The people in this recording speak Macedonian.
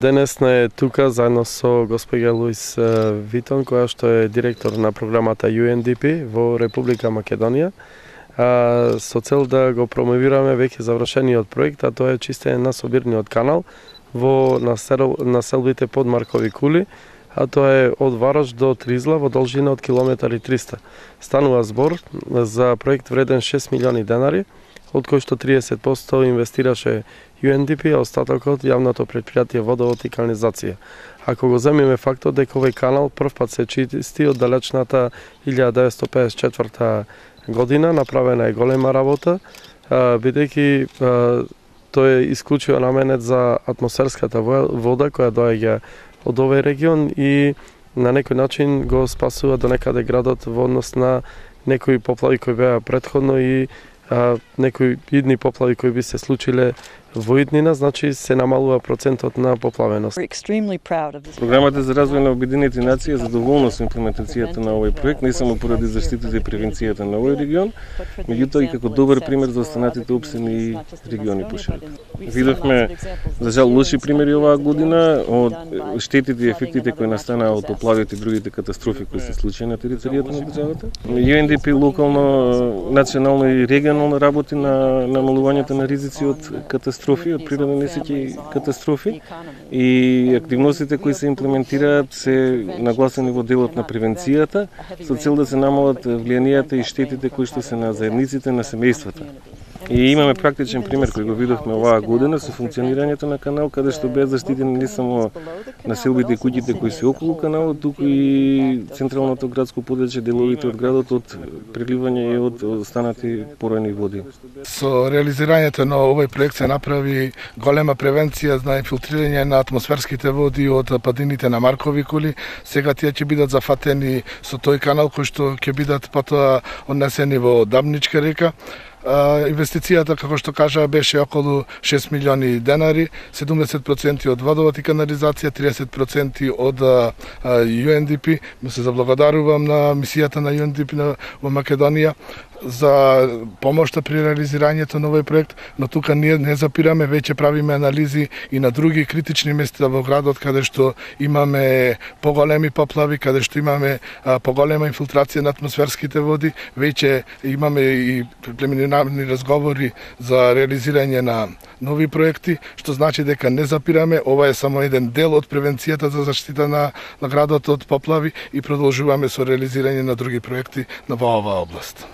Денес е тука заедно со госпоѓа Луис Витон, која што е директор на програмата UNDP во Република Македонија, со цел да го промовираме веќе завршениот проект, а тоа е чистење на собирниот канал во населбите под Маркови кули, а тоа е од Вараш до Тризла во должина од километар и 300. Станува збор за проект вреден 6 милиони денари, од кој што 30% инвестираше UNDP, а остатокот јавното претпријатие водовод и канализација. Ако го земиме фактот дека овој канал првпат се чисти од далечната 1954 година, направена е голема работа, бидејќи тој е исклучиво наменет за атмосферската вода која доаѓа од овој регион и на некој начин го спасува до некаде градот во однос на некои поплави кои беа претходно и некои идни поплави кои би се случиле во иднина, значи се намалува процентот на поплавеност. Програмата за развој на Обединените нации е задоволна со имплементацијата на овој проект, не само поради заштитата и превенцијата на овој регион, меѓутоа и како добар пример за останатите општини и региони пошироко. Видовме, за жал, лоши примери оваа година од штетите и ефектите кои настанаа од поплавите и другите катастрофи кои се случија на територијата на државата. UNDP локално, национално и регионално работи на намалувањето на ризици од катастрофи, од природни несреќи и катастрофи, и активностите кои се имплементираат се нагласени во делот на превенцијата со цел да се намалат влијанијата и штетите кои што се на заедниците, на семејствата. И имаме практичен пример кој го видовме оваа година со функционирањето на канал, каде што беа заштитени не само населбите и куќите кои се околу каналот, туку и централното градско подрачје, деловите од градот од преливање и од останати поројни води. Со реализирањето на овој проект се направи голема превенција за инфилтрирање на атмосферските води од падините на Маркови кули. Сега тие ќе бидат зафатени со тој канал кој што ќе бидат потоа однесени во Дабничка река. Инвестицијата, како што кажа, беше околу 6 милиони денари, 70% од водовод и канализација, 30% од UNDP. Му се заблагодарувам на мисијата на UNDP во Македонија за помошта при реализирањето на овој проект, но тука ние не запираме, веќе правиме анализи и на други критични места во градот каде што имаме поголеми поплави, каде што имаме поголема инфилтрација на атмосферските води, веќе имаме и прелиминарни разговори за реализирање на нови проекти, што значи дека не запираме, ова е само еден дел од превенцијата за заштита на градот од поплави и продолжуваме со реализирање на други проекти во оваа област.